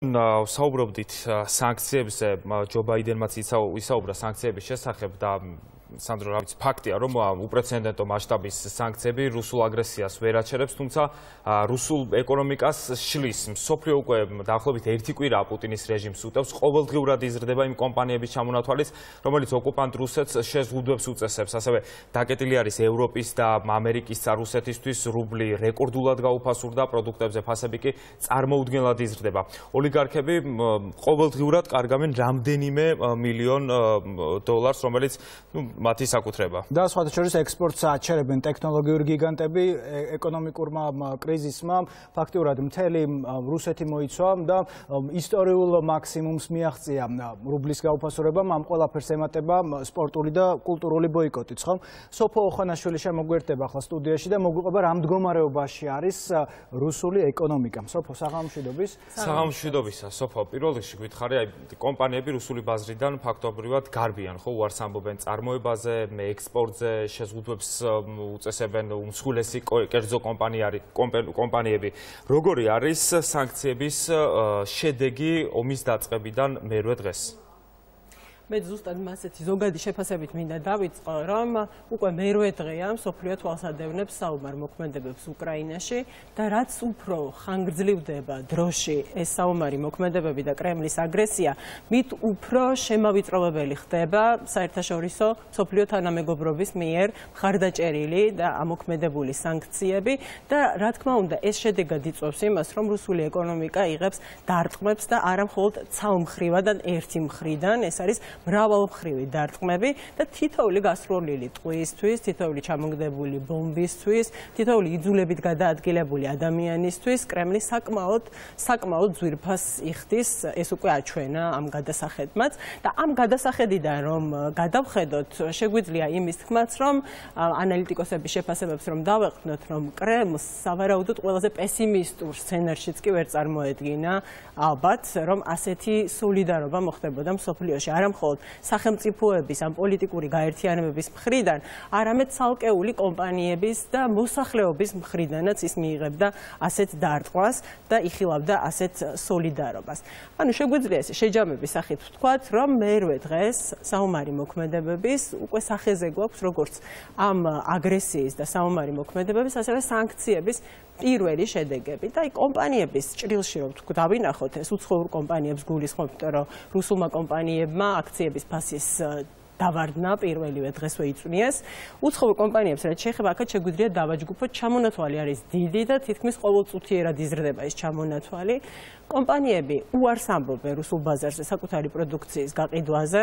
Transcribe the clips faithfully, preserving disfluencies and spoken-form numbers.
საუბრობდით სანქციებზე, ჯო ბაიდენმაც ისაუბრა სანქციების შესახებ და სანდრო, რავიც, ფაქტია, რომ უპრეცედენტო მასშტაბის სანქციები რუსულ აგრესიას ვერ აჩერებს, თუმცა რუსულ ეკონომიკას შლის. მსოფლიო უკვე დაახლოებით ერთი კვირაა პუტინის რეჟიმს უტევს, ყოველდღიურად იზრდება იმ კომპანიების ჩამონათვალიც, რომელიც ოკუპანტ რუსეთს შეზღუდვებს უწესებს. ასევე დაკეტილი არის ევროპის და ამერიკის და რუსეთისთვის რუბლი რეკორდულად გაუფასურდა, პროდუქტებზე ფასები კი წარმოუდგენლად იზრდება. ოლიგარქები ყოველდღიურად კარგავენ რამდენიმე მილიონ დოლარს, რომელიც მათი საკუთრება. და სხვათა შორის ექსპორტს აჩერებენ ტექნოლოგიური გიგანტები, ეკონომიკურმა კრიზისმა ფაქტიურად მთელი რუსეთი მოიცვა და ისტორიულ მაქსიმუმს მიაღწია რუბლის გაუფასურებამ, ამ ყველაფერს ემატება სპორტული და კულტურული ბოიკოტიც, ხო? სოფო ოხანაშვილი შემოგვერდება ახლა სტუდიაში და მოგვიყვება რა მდგომარეობაში არის რუსული ეკონომიკა. სოფო, საღამოშვიდობის. საღამოშვიდობისა, სოფო, პირველ რიგში გითხარი, აი კომპანიები რუსული ბაზრიდან ფაქტობრივად გარბიან, ხო, უარს ამბობენ წარმოება ექსპორტზე შეზღუდვებს უწესებენ უმსხვილესი კერძო კომპანიები. როგორი არის სანქციების შედეგი ომის დაწყებიდან მერვე დღეს? მე ზუსტად მასეთი ზოგადი შეფასებით მინდა დავიწყო, რომ უკვე მერვე დღეა მსოფლიო თვალს ადევნებს საომარ მოქმედებებს უკრაინაში და რაც უფრო ხანგრძლივდება დროში ეს საომარი მოქმედებები და კრემლის აგრესია, მით უფრო შემავიწროვებელი ხდება საერთაშორისო მსოფლიო თანამეგობრობის მიერ მხარდაჭერილი და ამოქმედებული სანქციები და რა თქმა უნდა ეს შედეგად იწვევს იმას, რომ რუსული ეკონომიკა იღებს დარტყმებს და არა მხოლოდ ცალმხრივად, ერთი მხრიდან, ეს არის მრავალმხრივი დარტყმები და თითოეული გასროლილი ტყვიისთვის, თითოეული ჩამოგდებული ბომბისთვის, თითოეული იძულებით გადაადგილებული ადამიანისთვის კრემლი საკმაოდ საკმაოდ ძვირფას იხდის, ეს უკვე აჩვენა ამ გადასახედმაც და ამ გადასახედიდან რომ გადავხედოთ, შეგვიძლია იმის თქმაც, რომ ანალიტიკოსების შეფასებებს რომ დავეყრდნოთ, რომ კრემლს სავარაუდოდ ყველაზე პესიმისტურ სცენარშიც კი ვერ წარმოედგინა ალბათ, რომ ასეთი სოლიდარობა მოხდებოდა მსოფლიოში, არა მხოლოდ სახელმწიფოების ან პოლიტიკური გაერთიანებების მხრიდან, არამედ ცალკეული კომპანიების და მოსახლეობის მხრიდანაც ის მიიღებდა ასეთ დარტყმას და იხილავდა ასეთ სოლიდარობას. ანუ შეგვიძლია ეს შეჯამების სახით ვთქვათ, რომ მერვე დღეს საომარი მოქმედებების უკვე სახეზე გვაქვს როგორც ამ აგრესიის და საომარი მოქმედებების, ასევე სანქციების პირველი შედეგები და აი კომპანიების ჭრილში რომ დავინახოთ ეს უცხოურ კომპანიებს გულისხმობთ, რომ რუსულმა კომპანიებმა აქციების ფასის დავარდნა პირველივე დღესვე იწვნიეს. უცხოურ კომპანიებს რაც შეეხება, აქაც შეგვიძლია დავაჯგუფოთ, ჩამონათვალი არის დიდი და თითქმის ყოველწუთიერად იზრდება ეს ჩამონათვალი. კომპანიები უარს ამბობენ რუსულ ბაზარზე საკუთარი პროდუქციის გაყიდვაზე,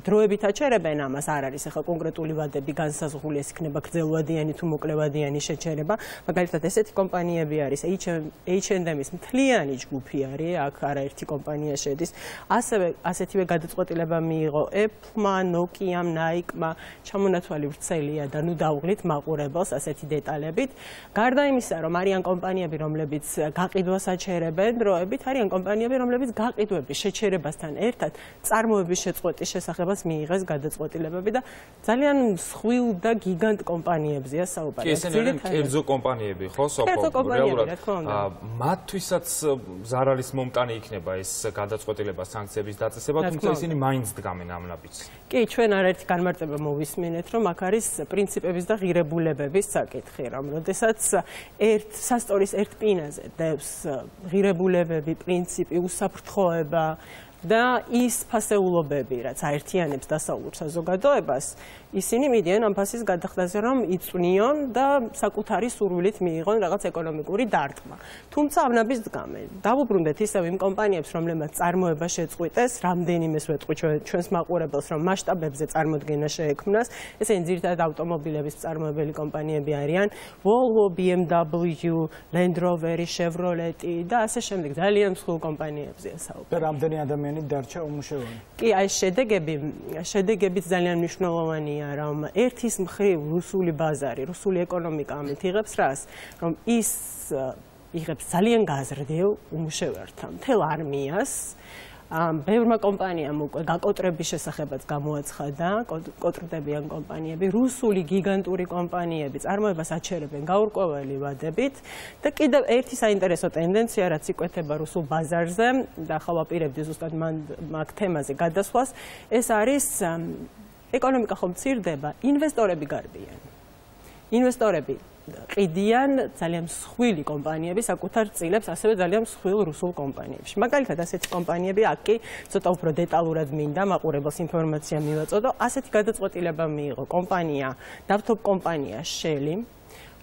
დროებით აჩერებენ ამას, არ არის ახლა კონკრეტული ვადები განსაზღვრული, ეს იქნება გრძელვადიანი თუ მოკლევადიანი შეჩერება. მაგალითად, ესეთი კომპანიები არის ეიჩ ენდ ემის მთლიანი ჯგუფი არის, აქ არაერთი კომპანია შედის. ასევე ასეთივე გადაწყვეტილება მიიღო Apple-მა, Nokia-მ, Nike-მა, ჩამონათვალი ვრცელია და ნუ დავღლით მაყურებელს ასეთი დეტალებით. გარდა იმისა, რომ არიან კომპანიები, რომლებიც გაყიდვას აჩერებენ დროებით, არიან კომპანიები, რომლებიც გაყიდვების შეჩერებასთან ერთად წარმოების შეწყვეტის შესახებაც მიიღეს გადაწყვეტილებები და ძალიან მსხვილ და გიგანტ კომპანიებზეა საუბარი. კი, ესენი არიან კერძო კომპანიები, ხო, სოფო? რეალურად მათთვისაც ზარალის მომტანი იქნება ეს გადაწყვეტილება სანქციების დაწესება, თუმცა ისინი მაინც დგამენ ამ ნაბიჯს. კი, ჩვენ არაერთი განმარტება მოვისმინეთ, რომ აქ არის პრინციპების და ღირებულებების საკითხი, რომ როდესაც ერთ სასტორის ერთ პინაზე დევს ღირებულებები, პრინციპი, უსაფრთხოება და ის ფასეულობები, რაც აერთიანებს დასავლურ საზოგადოებას, ისინი მიდიან ამ ფასის გადახდაზე, რომ იწვნიონ და საკუთარი სურვილით მიიღონ რაღაც ეკონომიკური დარტყმა. თუმცა ამნაბის დგამენ. დავუბრუნდეთ ისევ იმ კომპანიებს, რომლებმაც წარმოება შეწყვიტეს, რამდენიმეს ვეტყვი ჩვენს მაყურებელს, რომ მასშტაბებზე წარმოდგენა შეექმნას. ესენი ძირითადად ავტომობილების მწარმოებელი კომპანიები არიან Volvo, B M W, Land Rover, Chevrolet და ასე შემდეგ. ძალიან მსხვილ კომპანიებზეა საუბარი. რამდენი ადამიანი დარჩა უმუშევარი? კი, აი შედეგები, შედეგებიც ძალიან მნიშვნელოვანია. რომ ერთის მხრივ რუსული ბაზარი, რუსული ეკონომიკა ამით იღებს რას, რომ ის იღებს ძალიან გაზრდილ უმუშევართა მთელ არმიას, ბევრმა კომპანიამ უკვე გაკოტრების შესახებაც გამოაცხადა, კოტრდებიან კომპანიები, რუსული გიგანტური კომპანიები წარმოებას აჩერებენ გაურკვეველი ვადებით და კიდევ ერთი საინტერესო ტენდენცია, რაც იკვეთება რუსულ ბაზარზე და ახლა ვაპირებდი ზუსტად მაგ თემაზე გადასვლას, ეს არის ეკონომიკა ხომ მცირდება, ინვესტორები გარბიან. ინვესტორები ყიდიან ძალიან მსხვილი კომპანიები საკუთარ წილებს, ასევე ძალიან მსხვილ რუსულ კომპანიებში. მაგალითად, ასეთი კომპანიები აქ კი ცოტა უფრო დეტალურად მინდა მაყურებელს ინფორმაცია მივაწოდო. ასეთი გადაწყვეტილება მიიღო კომპანია, ნავთობ კომპანია Shell,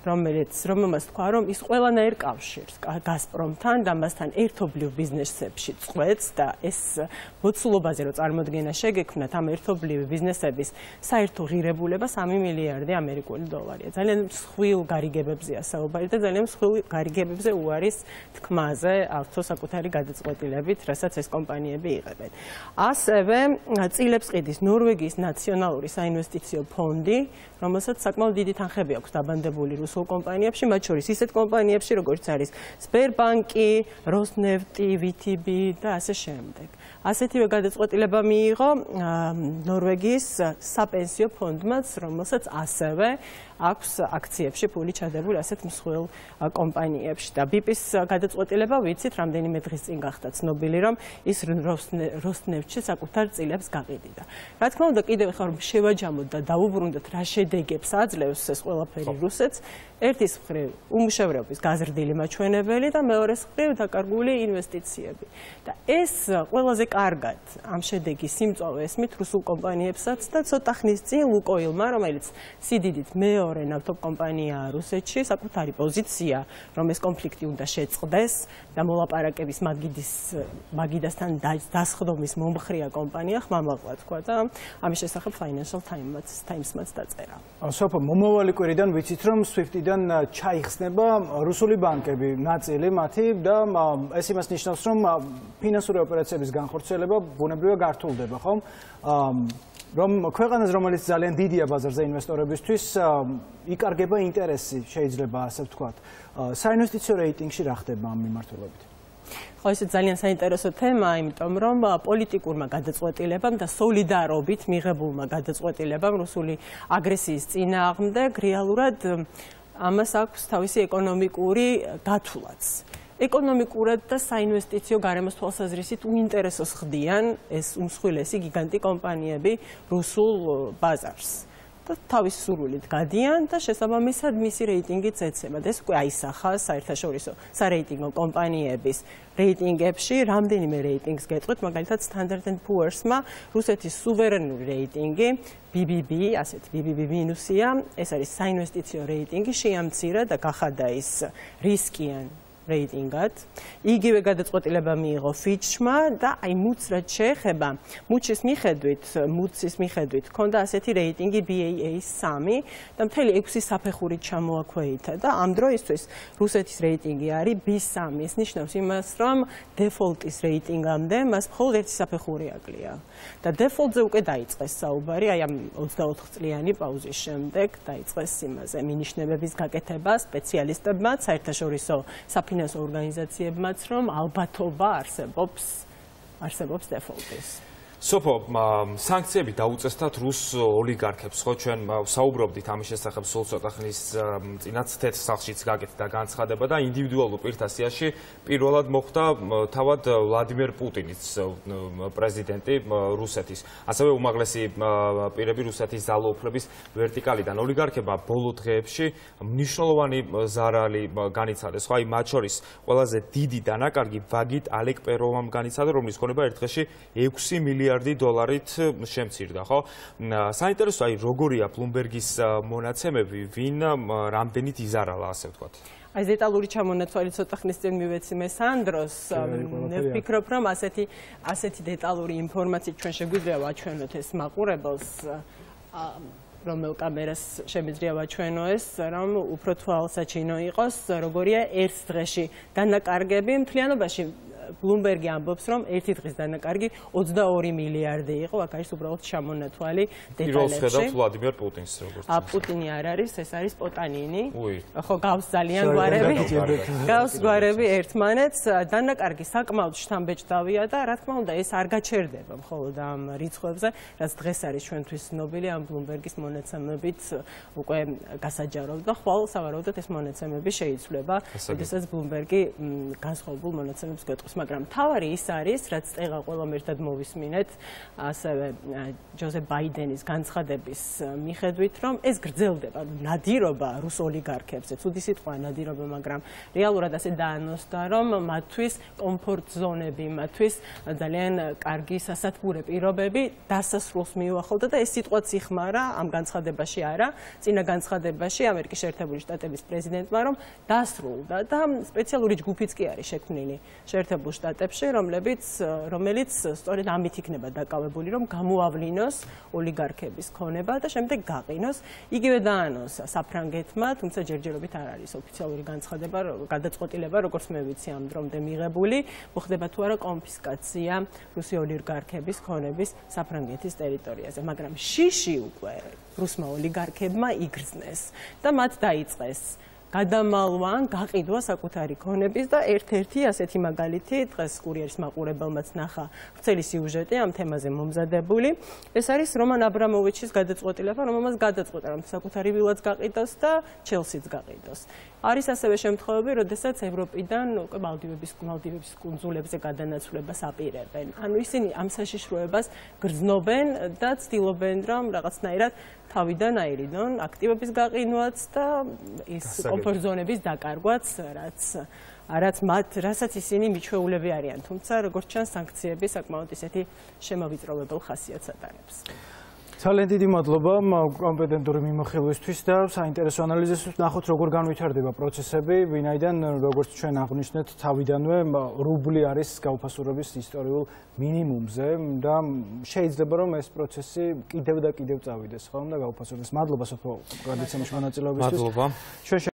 რომელიც რომელმაც თქვა, რომ ის ყველანაირ კავშირს გაზპრომთან და მასთან ერთობლივ ბიზნესებში წყვეტს და ეს მოცულობაზე რო წარმოდგენა შეგექმნათ ამ ერთობლივი ბიზნესების საერთო ღირებულება სამი მილიარდი ამერიკული დოლარია. ძალიან მსხვილ გარიგებებზეა საუბარი და ძალიან მსხვილ გარიგებებზე უარის თქმაზე ავთო საკუთარი გადაწყვეტილებით, რასაც ეს კომპანიები იღებენ. ასევე წილებს ყიდის ნორვეგიის ნაციონალური საინვესტიციო ფონდი, რომელსაც საკმაოდ დიდი თანხები აქვს დაბანდებული რუსულ კომპანიებში, მათ შორის ისეთ კომპანიებში, როგორც არის Sberbank-ი, Rosneft-ი, V T B და ასე შემდეგ. ასეთივე გადაწყვეტილება მიიღო ნორვეგიის საპენსიო ფონდმაც, რომელსაც ასევე აქვს აქციებში ფული ჩადებული ასეთ მსხვილ კომპანიებში და B P-ის გადაწყვეტილება ვიცით, რამდენიმე დღის წინ გახდა ცნობილი, რომ ის Rosneft-ში საკუთარ წილებს გაყიდიდა. რა თქმა უნდა, კიდევ ხარ შევაჯამოთ და დაუბრუნდეთ, რა შედეგებს აძლევს ეს ყველაფერი რუსეთს. ერთის მხრივ უმუშევრობის გაზრდილი მაჩვენებელი და მეორეს მხრივ დაკარგული ინვესტიციები. და ეს ყველაზე კარგად ამ შედეგის სიმწვავე ესმით რუსულ კომპანიებსაც და ცოტა ხნის წინ Lukoil-მა, რომელიც სიდიდით მეორე ნავთობ კომპანიაა რუსეთში, საკუთარი პოზიცია, რომ ეს კონფლიქტი უნდა შეწყდეს და მოლაპარაკების მაგიდის მაგიდასთან დასხდომის მომხრია კომპანია ხმამაღლა თქვა და ამის შესახებ Financial Times-მაც დაწერა. სოფო, მომავალი კვირიდან ვიცით, რომ SWIFT-დან ჩაიხსნება რუსული ბანკები, ნაწილი მათი და ეს იმას ნიშნავს, რომ ფინანსური ოპერაციების განხორციელება ბუნებრივად გართულდება, ხომ? რომ ქვეყანას, რომელიც ძალიან დიდია ბაზარზე ინვესტორებისთვის, იკარგება ინტერესი, შეიძლება ასე ვთქვათ. საინვესტიციო რეიტინგში რა ხდება ამ მიმართულებით? ხო, ეს ძალიან საინტერესო თემაა, იმიტომ რომ პოლიტიკურმა გადაწყვეტილებამ და სოლიდარობით მიღებულმა გადაწყვეტილებამ რუსული აგრესიის წინააღმდეგ რეალურად ამას აქვს თავისი ეკონომიკური დათვლაც. ეკონომიკურად და საინვესტიციო გარემოს თვალსაზრისით უინტერესოს ხდიან ეს უმსხვილესი გიგანტი კომპანიები რუსულ ბაზარს. და თავის სურვილით გადიან და შესაბამისად მისი რეიტინგიც ეცემა. ეს უკვე აისახა საერთაშორისო სარეიტინგო კომპანიების რეიტინგებში, რამდენიმე რეიტინგს გეტყვით, მაგალითად Standard and Poor's-მა რუსეთის სუვერენული რეიტინგი B B B, ასეთ B B B მინუსია, ეს არის საინვესტიციო რეიტინგი, შეამცირა და გახადა ის რისკიან რეიტინგად. იგივე გადაწყვეტილება მიიღო Fitch-მა და აი Moody's რაც შეეხება, Moody's მიხედვით, Moody's მიხედვით ჰქონდა ასეთი რეიტინგი B A A სამი და მთელი ექვსი საფეხურით ჩამოაქვეითა და ამ დროისთვის რუსეთის რეიტინგი არის B სამი. ეს ნიშნავს იმას, რომ დეფოლტის რეიტინგამდე მას მხოლოდ ერთი საფეხური აკლია. და დეფოლტზე უკვე დაიწყეს საუბარი, აი ამ ოცდაოთხ წლიანი პაუზის შემდეგ დაიწყეს იმაზე მინიშნებების გაკეთება სპეციალისტებმაც, საერთაშორისო საფინანსო ორგანიზაციებმაც, რომ ალბათობა არსებობს არსებობს დეფოლტის. სოფო, სანქციები დაუწესდათ რუს ოლიგარქებს, ხო, ჩვენ საუბრობდით ამის შესახებ სულ ცოტა ხნის წინაც თეთრ სახლშიც გაკეთდა განცხადება და ინდივიდუალურ პირთა სიაში პირველად მოხვდა თავად ვლადიმერ პუტინიც, პრეზიდენტი რუსეთის, ასევე უმაღლესი პირები რუსეთის ძალაუფლების ვერტიკალიდან. ოლიგარქებმა ბოლო დღეებში მნიშვნელოვანი ზარალი განიცადეს, ხო, აი მათ შორის ყველაზე დიდი დანაკარგი ვაგიტ ალეკპეროვამ განიცადა, რომლის ქონება ერთ დღეში ექვსი მილიარდი დოლარით შემცირდა, ხო? საინტერესო, აი როგორია Bloomberg-ის მონაცემები, ვინ რამდენით იზარალა, ასე ვთქვათ. აი დეტალური ჩამონაცვალი ცოტა ხნის წინ მივეცი მე სანდროს, მე ვფიქრობ, რომ ასეთი ასეთი დეტალური ინფორმაციით ჩვენ შეგვიძლია ვაჩვენოთ ეს მაყურებელს, რომელ კამერას შემიძლია ვაჩვენო ეს, რომ უფრო თვალსაჩინო იყოს, როგორია ერთ დღეში დანაკარგები მთლიანობაში Bloomberg-ი ამბობს, რომ ერთი დღის დანაკარგი ოცდაორი მილიარდი იყო, აქ არის უბრალოდ ჩამონათვალი დეტალებში. პირველს ხედავთ ვლადიმერ პუტინს როგორც. ა პუტინი არ არის, ეს არის პოტანინი. ხო, გავს ძალიან გვარები. გავს გვარები ერთმანეთს. დანაკარგი საკმაოდ შთამბეჭდავია და რა თქმა უნდა, ეს არ გაჩერდება მხოლოდ ამ რიცხვებზე, რაც დღეს არის ჩვენთვის ცნობილი ამ Bloomberg-ის მონაცემებით უკვე გასაჯაროდ და ხვალ სავარაუდოდ ეს მონაცემები შეიცვლება, როდესაც Bloomberg-ი განსხვავებულ მონაცემებს გვეტყვის, მაგრამ თავარი ის არის, რაც წეღა ყველამ ერთად მოვისმინეთ, ასევე ჯოზეფ ბაიდენის განცხადების მიხედვით, რომ ეს გრძელდება, ნადირობა რუს ოლიგარქებზე, ცუდი სიტყვაა ნადირობა, მაგრამ რეალურად ასე დაანონსდა, რომ მათთვის კომფორტ ზონები, მათთვის ძალიან კარგი სასათბურე პირობები დასასრულს მიუახლოვდა და ეს სიტყვაც იხმარა ამ განცხადებაში არა, წინა განცხადებაში ამერიკის შეერთებული შტატების პრეზიდენტმა, რომ დასრულდა და სპეციალური ჯგუფიც კი არის შექმნილი შეერთებულ შტატებში, რომლებიც რომელიც სწორედ ამით იქნება დაკავებული, რომ გამოავლინოს ოლიგარქების ქონება და შემდეგ გაყინოს. იგივე დაანონსა საფრანგეთმა, თუმცა ჯერჯერობით არ არის ოფიციალური განცხადება, გადაწყვეტილება, როგორც მე ვიცი ამ დრომდე მიღებული, მოხდება თუ არა კონფისკაცია რუსი ოლიგარქების ქონების საფრანგეთის ტერიტორიაზე, მაგრამ შიში უკვე რუსმა ოლიგარქებმა იგრძნეს და მათ დაიწყეს გადამალვა, გაყიდვა საკუთარი ქონების და ერთ-ერთი ასეთი მაგალითი დღეს კურიერის მაყურებელმაც ნახა ვრცელი სიუჟეტი ამ თემაზე მომზადებული. ეს არის რომან აბრამოვიჩის გადაწყვეტილება, რომელმაც გადაწყვეტა, რომ საკუთარი ვილაც გაყიდოს და ჩელსიც გაყიდოს. არის ასევე შემთხვევები, როდესაც ევროპიდან უკვე მალდივების მალდივების კუნძულებზე გადანაცვლებას აპირებენ. ანუ ისინი ამ საშიშროებას გრძნობენ და ცდილობენ, რომ რაღაცნაირად თავიდან აირიდონ აქტივების გაყინვაც და ის კომფორტ ზონების დაკარგვაც, რაც რაც მათ, რასაც ისინი მიჩვეულები არიან, თუმცა როგორც ჩანს, სანქციები საკმაოდ ისეთი შემოვიწროვებელ ხასიათს ატარებს. ძალიან დიდი მადლობა კომპეტენტური მიმოხილვისთვის და საინტერესო ანალიზისთვის. ნახოთ როგორ განვითარდება პროცესები, ვინაიდან როგორც ჩვენ აღვნიშნეთ, თავიდანვე რუბლი არის გაუფასურების ისტორიულ მინიმუმზე და შეიძლება რომ ეს პროცესი კიდევ და კიდევ წავიდეს, ხო, და გაუფასურდეს. მადლობა სოფო გადაცემაში მონაწილეობისთვის. მადლობა.